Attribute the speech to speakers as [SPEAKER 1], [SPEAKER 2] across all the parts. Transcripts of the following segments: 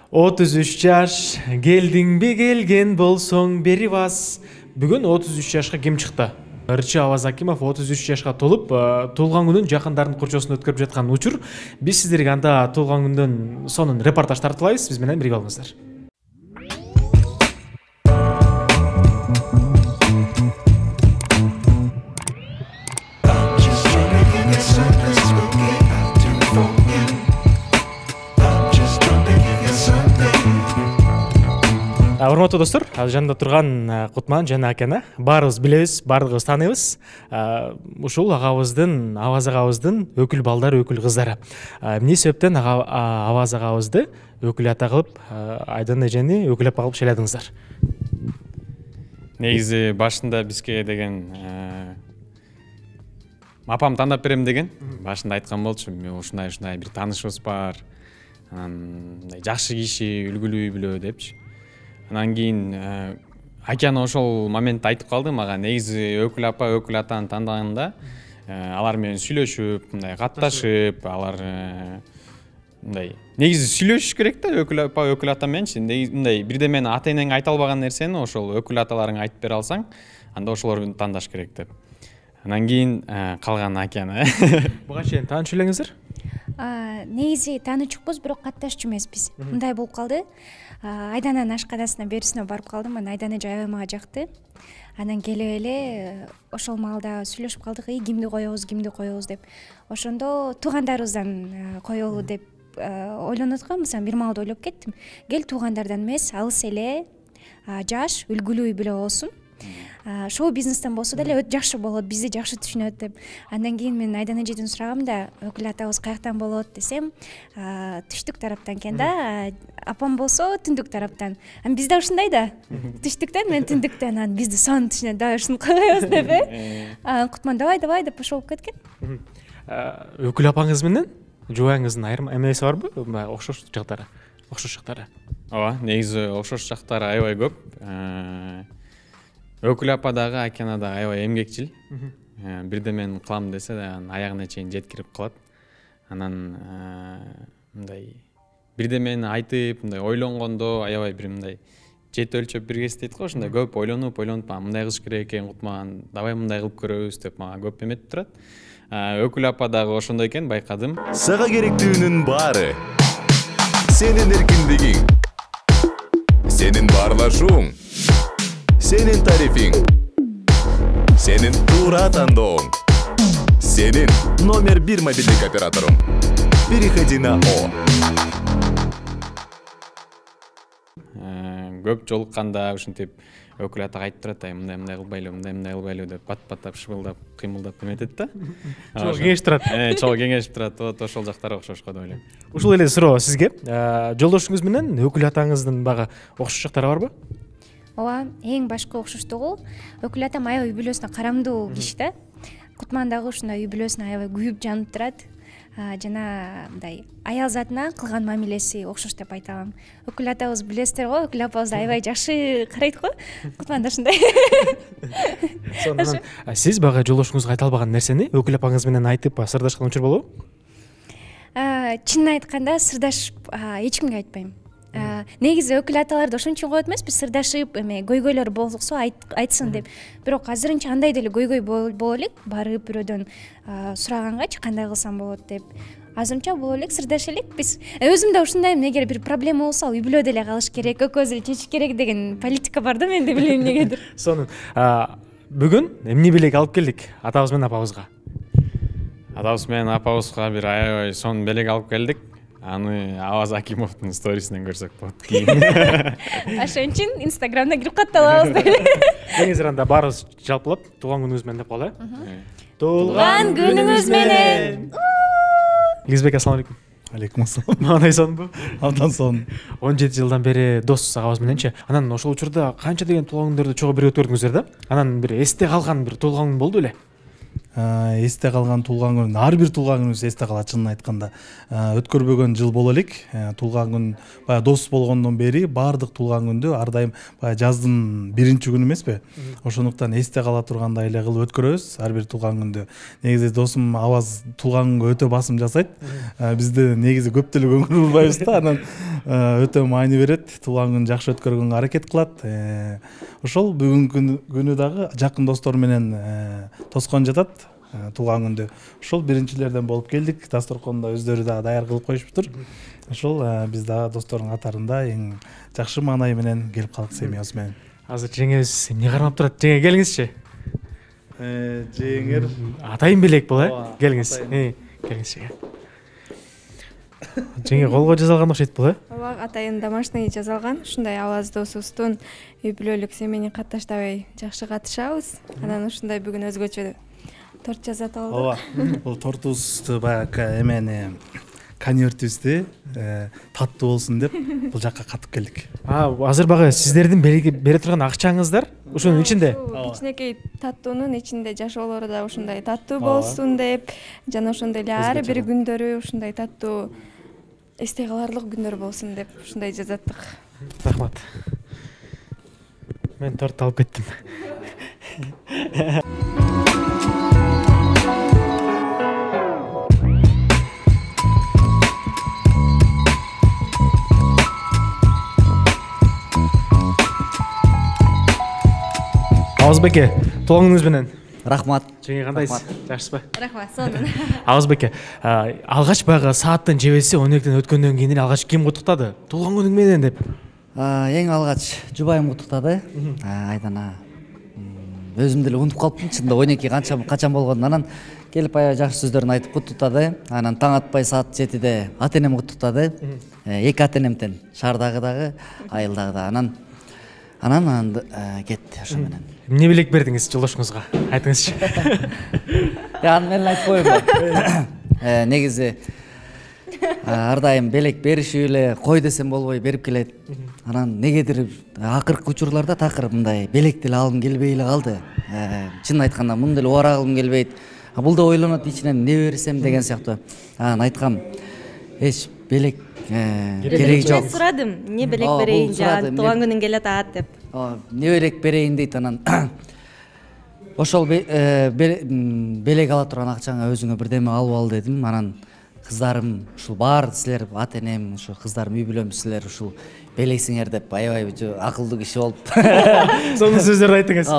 [SPEAKER 1] 33 жаш, келдиңби келген болсоң бери бас. Бүгүн 33 жашка ким чыкты? Ырчы Аваз Акимов 33 жашка толуп, туулган күнүн жакындардын курчосунда өткөрүп жаткан учур. Биз сиздерге анда туулган күндөн сонун репортаж тартуулайбыз. Биз менен бирге болуңуздар. Урматтуу достор, жанында турган Кутман жана Акена баарыбыз билебиз, баардыгыбыз тааныйбыз. Ушул агабыздын, Аваз агабыздын өкүл балдары, өкүл кыздары. Эмне себептен Аваз агабызды өкүл ата кылып, Айдан эжени өкүл апа кылып шайладыңыздар?
[SPEAKER 2] Негизи башында бизге деген апам тандап берем деген. Башында айткан болчу, ушундай бир таанышыбыз бар. Анан жакшы киши, үлгүлүү үй-бүлө депчи. Анан кийин Акена ошол моментте айтып калды мага, негизи өкүл апа, өкүл атаны тандаганда алар менен сүйлөшүп, мындай катташып, алар мындай негизи сүйлөшүш керек да өкүл апа, өкүл ата мененчи. Мындай бирде мени ата энең айта албаган нерсени ошол өкүл аталарың айтып бере алсаң, анда ошолорду тандаш керек деп. Анан кийин калган Акена.
[SPEAKER 1] Буга чейин таанышып элеңиздер?
[SPEAKER 3] Негизи таанычукпуз, бирок катташчу эмеспиз. Мындай болуп калды. Айдананын ашканасына берүүсүнө барып калдым. Анан Айдан эже аябай мага жакты. Анан келип эле ошол маалда сүйлөшүп калдык, кимди коебуз деп. Ошондо туугандарыбыздан коелу деп ойлонуп аткам. Мисалы бир маалда ойлоп кеттим. Кел туугандардан эмес, алыс эле, жаш, үлгүлүү үй-бүлө болсун. Шоу бизнестен болсо деле өтө жакшы болот, бизди жакшы түшүнөт деп. Андан кийин мен Айдан эжеден сурагам да, өкүл атабыз каяктан болот десем, түштүк тараптан экен да, апам болсо түндүк тараптан. Анан бизде ушундай да, түштүктөн, мен түндүктөн, анан бизди сонун түшүнөт, давай ушуну кылабыз деп. Кутман давай деп ошол болуп кеткен.
[SPEAKER 1] Өкүл апаңыз менен жубайыңыздын айрым эмеси барбы? Окшош жактары?
[SPEAKER 2] Ооба, негизи окшош жактары аябай көп. Өкүл апа дагы, Акена дагы аябай эмгекчил. Бирде мен кылам десе да аягына чейин жеткирип калат. Анан мындай бирде мени айтып, мындай ойлонгондо аябай бир мындай жет өлчөп бир кес дейт го, ошондой көп ойлонуп, мындай кылыш керек экен Кутман, давай мындай кылып көрөбүз деп мага көп эметип турат. Өкүл апа дагы ошондой экен, байкадым.
[SPEAKER 4] Сага керектүүнүн баары сенин эркиндигиң, сенин баарлашууң, сенин тарифиң, сенин туура тандооң, сенин номер 1 мобилдик операторуң. Переходи на О.
[SPEAKER 2] Көп жолукканда ушинтип өкүл ата айтып турат, мындай кылбайлы деп бат-баттап, шыбылдап, кыймылдап эметет да.
[SPEAKER 1] Чоң кеңешип турат.
[SPEAKER 2] Чоң кеңешип турат. Вот ошол жактары окшош го деп ойлойм.
[SPEAKER 1] Ушул эле суроо сизге. Жолдошуңуз менен өкүл атаңыздын багы окшош жактары барбы?
[SPEAKER 3] Ооба, эң башкы окшоштугу өкүл атам аябай үй-бүлөсүнө карамдуу киши да. Кутман дагы ушундай үй-бүлөсүнө аябай күйүп жанып турат. Жана мындай аял затына кылган мамилеси окшош деп айта алам. Өкүл атабыз билесиздер го, өкүл апабызды аябай жакшы карайт го. Кутман да ушундай.
[SPEAKER 1] Сонун. Сиз бага жолдошуңузга айта албаган нерсени өкүл апаңыз менен айтып, сырдашкан учур болобу?
[SPEAKER 3] Чынын айтканда сырдашып эч кимге айтпайм. Негизи өкүл аталарды ошон үчүн коет эмеспи, сырдашып, көйгөйлөр болсо айтсын деп. Бирок азырынча андай деле көйгөй боло элек, барып бирөөдөн сурагангач кандай кылсам болот деп. Азырынча боло элек, сырдаша элек биз. Өзүм да ушундаймын, эгер бир проблема болсо ал үй-бүлө деле калыш керек, экөөбүз эле чечиш керек деген политика бар да менде, билбейм эмнегедир.
[SPEAKER 1] Сонун. Бүгүн эмне белек алып келдик атабыз менен апабызга?
[SPEAKER 2] Атабыз менен апабызга бир аябай сонун белек алып келдик. Аны Аваз Акимовдун сторисинен көрсөк болот кийин.
[SPEAKER 3] Ошон үчүн Инстаграмда кирип катталабыз деп.
[SPEAKER 1] Кеңиздер анда баарыбыз жалпылап туулган күнүңүз менен деп калалы.
[SPEAKER 3] Туулган күнүңүз менен.
[SPEAKER 1] Илизбек, ассалам алейкум.
[SPEAKER 5] Алейкум ассалам.
[SPEAKER 1] Кандай сонунбу?
[SPEAKER 5] Абдан сонун.
[SPEAKER 1] 17 жылдан бери досуз агабыз мененчи. Анан ошол учурда канча деген туулган күндөрдү чогуу бирге өткөрдүңүздөр да? Анан бир эсте калган бир туулган күн болду беле?
[SPEAKER 5] эсте калган туулган күн, ар бир туулган күнүбүз эсте калат. Чынын айтканда өткөрбөгөн жыл боло элек. Туулган күн баягы дос болгондон бери баардык туулган күндү ар дайым баягы жаздын биринчи күнү эмеспи? Ошондуктан эсте кала тургандай эле кылып өткөрөбүз ар бир туулган күндү. Негизи досум Аваз туулган күнгө өтө басым жасайт. Бизде негизи көп деле көңүл бурбайбыз да, анан өтө маани берет. Туулган күн жакшы өткөргөнгө аракет кылат. Ошол бүгүнкү күнү дагы жакын достор менен тоскон жатат. Туулган күндү ошол биринчилерден болуп келдик. Дасторконду өздөрү дагы даяр кылып коюшуптур. Ошол биз дагы достордун катарында эң жакшы маанай менен келип калдык семьябыз менен.
[SPEAKER 1] Азыр жеңебиз эмне кармап турат? Жеңе келиңизчи.
[SPEAKER 5] Жеңер
[SPEAKER 1] Атайын белек бул, келиңиз. Келиңиз жеңе. Жеңе колго жасалган окшойт бул,
[SPEAKER 6] Ооба, атайын домашний жасалган. Ушундай Аваз досубуздун үй бүлөлүк семейни катташтабай жакшы катышабыз. Анан ушундай бүгүн өзгөчө торт жасап алдык.
[SPEAKER 5] Ооба. Бул тортубузду баягы эмени конвертибизди таттуу болсун деп бул жакка катып келдик.
[SPEAKER 1] Азыр багы сиздердин бере турган акчаңыздар ушунун ичинде.
[SPEAKER 6] Кичинекей таттуунун ичинде жашоолору да ушундай таттуу болсун деп, жана ошондой эле ар бир күндөрү ушундай таттуу эсте каларлык күндөр болсун деп ушундай жасаттык.
[SPEAKER 1] Рахмат. Мен торт алып кеттим. Авазбеке, туулган күнүңүз менен.
[SPEAKER 7] Рахмат.
[SPEAKER 1] Жеңе кандайсыз? Жакшысызбы?
[SPEAKER 3] Рахмат, сонун.
[SPEAKER 1] Авазбеке, алгач баягы сааттын жебеси 12-тен өткөндөн кийин эле алгач ким куттуктады? Туулган күнүң менен деп.
[SPEAKER 7] Эң алгач жубайым куттуктады. Айдана. Өзүм деле унутуп калыптым, чынында 12 качан болгонун. Анан келип аябай жакшы сөздөрүн айтып куттуктады. Анан таң атпай саат 7-де ата-энем куттуктады. Эки ата-энемден, шаардагы дагы, айылдагы да. Анан кетти ошо менен.
[SPEAKER 1] Эмне белек бердиңиз жолдошуңузга? Айтыңызчы.
[SPEAKER 7] Аны мен айтып коеюн. Негизи ар дайым белек беришип эле кой десем болбой берип келет. Анан негедир акыркы учурларда такыр мындай белек деле алгым келбей эле калды. Чынын айтканда муну деле убара кылгым келбейт. Бул да ойлонот ичинен эмне берсем деген сыяктуу. Анан айткам, эч белек кереги жок.
[SPEAKER 8] Мен сурадым, эмне белек берейин, туулган күнүң келе атат деп.
[SPEAKER 7] Эмне белек берейин дейт. Анан ошол белек ала турган акчаңа өзүңө бирдеме алып ал дедим. Анан кыздарым ушул баары силер ата-энем, ушу кыздарым үй бүлөм силер ушул белексиңер деп аябай акылдуу киши болуп.
[SPEAKER 1] Сонун сөздөрдү айттыңыз.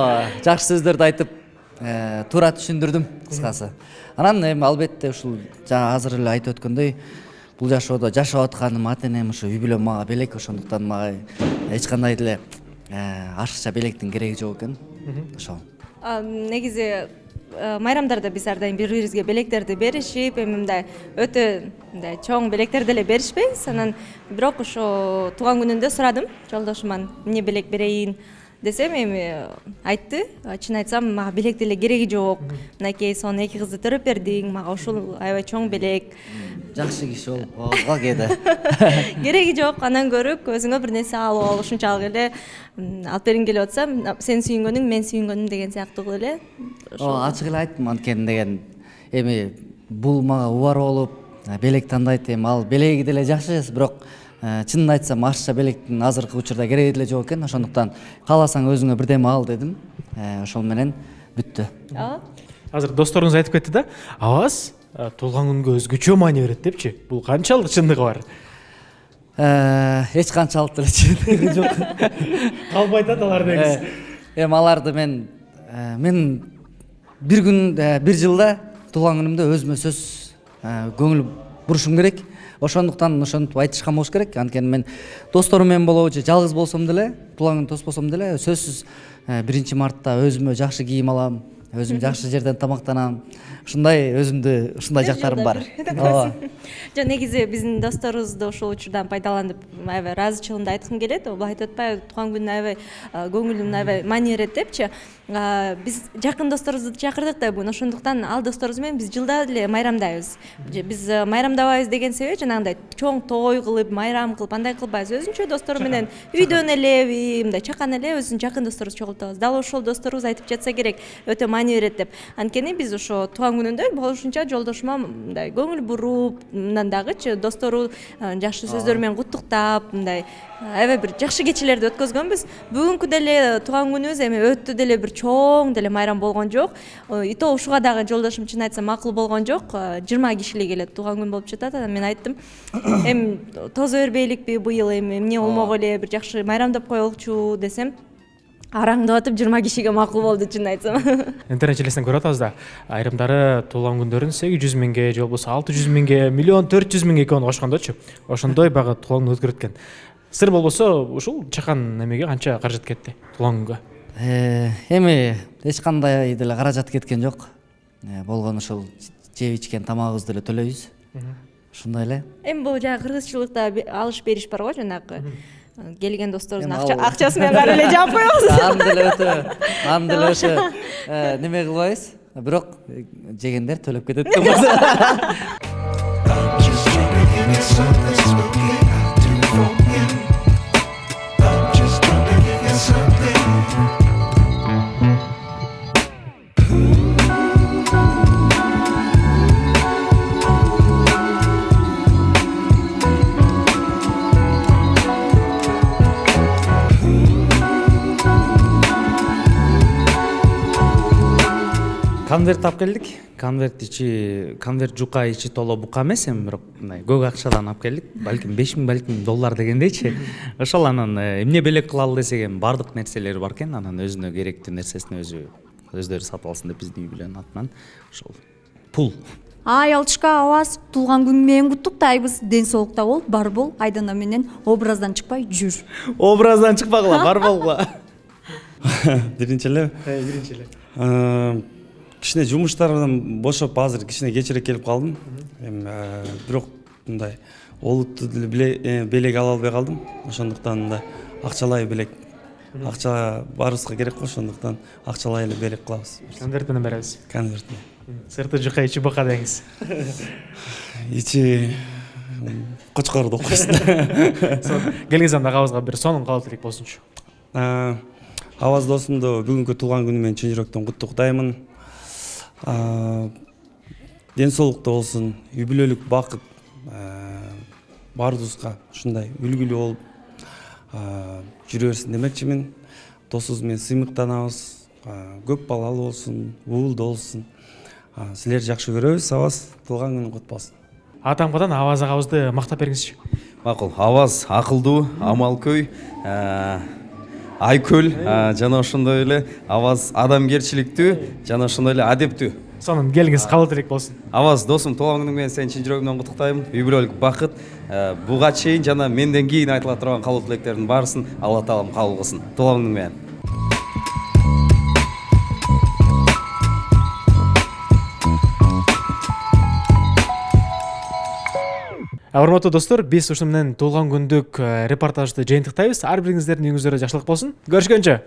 [SPEAKER 7] Жакшы сөздөрдү айтып, туура түшүндүрдүм кыскасы. Анан эми албетте ушул азыр эле айтып өткөндөй, бул жашоодо жашап атканым ата-энем ушу үй бүлөм мага белек, ошондуктан мага эч кандай деле ашыкча белектин кереги жок экен. Ошол.
[SPEAKER 8] Негизи майрамдарда биз ар дайым бири бирибизге белектерди беришип, эми мындай өтө мындай чоң белектер деле беришпейбиз. Анан бирок ошо туулган күнүндө сурадым жолдошуман эмне белек берейин десем, эми айтты. Чын айтсам, мага белек деле кереги жок. Мынакей сон 2 кызды төрөп бердиң, мага ушул аябай чоң белек.
[SPEAKER 7] Жакшы киши болуп калды.
[SPEAKER 8] Кереги жок, андан көрүп өзүңө бир нерсе алып ал, ушунчалык эле алып бергиң келип атсам, сен сүйүнгөнүң, мен сүйүнгөнүм деген сыяктуу эле.
[SPEAKER 7] Ачык эле айттым анткени деген. Эми бул мага убар болуп, белек тандайт, эми ал белеги деле жакшы, бирок чынын айтсам, ашыкча белектин азыркы учурда кереги деле жок экен. Ошондуктан кааласаң өзүңө бирдеме ал дедим. Ошол менен бүттү.
[SPEAKER 1] Азыр досторуңуз айтып кетти да, Аваз туулган күнгө өзгөчө маани берет депчи. Бул канчалык чындыгы бар?
[SPEAKER 7] Эч канчалык деле чындыгы жок.
[SPEAKER 1] Калбай атат алар негизи.
[SPEAKER 7] Эми аларды мен бир күн, бир жылда туулган күнүмдө өзүмө сөз көңүл бурушум керек. Ошондуктан ошентип айтышкан болуш керек. Анткени мен досторум менен болобу, жалгыз болсом деле, туулган күн тоспосом деле сөзсүз 1 мартта өзүмө жакшы кийим алам, өзүм жакшы жерден тамактанам. Ушундай өзүмдү ушундай жактарым бар.
[SPEAKER 8] Жок, негизи биздин досторубузду ошол учурдан пайдаланып аябай ыраазычылыгымды айткым келет. Былай айтып атпайбы, туулган күнүнө аябай көңүлүм аябай маани берет депчи. Биз жакын досторубузду чакырдык да бүгүн. Ошондуктан ал досторубуз менен биз жылда эле майрамдайбыз. Биз майрамдабайбыз деген себеби жанагындай чоң той кылып, майрам кылып, андай кылбайбыз. Өзүнчө достору менен үйдөн эле, мындай чакан эле өзүнүн жакын досторубузду чогултабыз. Дал ошол досторубуз айтып жатса керек, өтө маани берет деп. Анткени биз ошо туулган күнүндө болушунча жолдошума мындай көңүл буруп, мындан дагычы достору жакшы сөздөр менен куттуктап, мындай аябай бир жакшы кечелерди өткөзгөнбүз. Бүгүнкү деле туулган күнүбүз эми өтө деле бир чоң деле майрам болгон жок. И то ушуга дагы жолдошум чын айтсам макул болгон жок. 20 кишилик эле туулган күн болуп жатат. Анан мен айттым, эми тозо бербейликпи быйыл, эми эмне болмок эле бир жакшы майрамдап коелучу десем, араңдап атып 20 кишиге макул болду чын айтсам.
[SPEAKER 1] Интернет желесинен көрүп атабыз да, айрымдары туулган күндөрүн 800 миңге же болбосо 600 миңге, 1 400 000 экөөнү кошкондочу. Ошондой багы туулган күн өткөрөт экен. Сыр болбосо ушул чакан немеге канча каражат кетти туулган күнгө?
[SPEAKER 7] Эми эч кандай деле каражат кеткен жок. Болгон ушул жеп ичкен тамагыбызды эле төлөйбүз. Ушундай эле.
[SPEAKER 8] Эми бул жана кыргызчылыкта алыш бериш бар го, жанагы келген досторубуздун акчасы менен баары эле жаап коебуз.
[SPEAKER 7] Аны деле ошо неме кылбайбыз. Бирок жегендер төлөп кетет.
[SPEAKER 9] Конверт алып келдик. Конверт жука ичи толо бука эмес, эми бирок мындай көк акчадан алып келдик. Балким 5000 балким доллар дегендейчи. Ошол анан эмне белек кылалы десек, эми бардык нерселери бар экен. Анан өзүнө керектүү нерсесин өздөрү сатып алсын деп биздин үй бүлөнүн атынан ошол пул.
[SPEAKER 10] Аялчка Аваз туулган күнү менен куттуктайбыз. Ден соолукта бол, бар бол, Айдана менен образдан чыкпай жүр.
[SPEAKER 9] Образдан чыкпагыла, бар болгула.
[SPEAKER 11] Биринчи эле. Кичине жумуштардан бошоп азыр кичине кечирээк келип калдым. Эми бирок мындай олуттуу белек ала албай калдым. Ошондуктан да акчалай белек. Акча баарыбызга керек го, ошондуктан акчалай эле белек кылабыз.
[SPEAKER 1] Конверт менен беребиз.
[SPEAKER 11] Конверт.
[SPEAKER 1] Сырты жука ичи бука деңиз.
[SPEAKER 11] Ичи кочкорду окуйсун.
[SPEAKER 1] Келген заманда агабызга бир сонун каалоо тилек болсунчу.
[SPEAKER 11] Аваз досумду бүгүнкү туулган күнү менен чын жүрөктөн куттуктаймын. Ден соолукта болсун, үй бүлөлүк бакыт баарыбызга ушундай үлгүлүү болуп жүрө берсин демекчимин. Досубуз менен сыймыктанабыз. Көп балалуу болсун, уулдуу болсун. Силерди жакшы көрөбүз. Аваз туулган күнүң кут болсун.
[SPEAKER 1] Атамкадан Аваз агабызды мактап бериңизчи.
[SPEAKER 12] Макул. Аваз акылдуу, амалкөй, айкөл, жана ошондой эле Аваз адамгерчиликтүү, жана ошондой эле адептүү.
[SPEAKER 1] Сонун келиңиз каалоо тилек болсун.
[SPEAKER 12] Аваз досум, туулган күнүң менен сени чын жүрөгүмдөн куттуктайм. Үй бүлөлүк бакыт, буга чейин жана менден кийин айтыла турган каалоо тилектердин баарысын Алла таалам кабыл кылсын. Туулган күнүң менен.
[SPEAKER 1] Урматтуу достор, биз ушуну менен туулган күндүк репортажды жыйынтыктайбыз. Ар бириңиздердин үйүңүздөрдө жакшылык болсун. Көрүшкөнчө.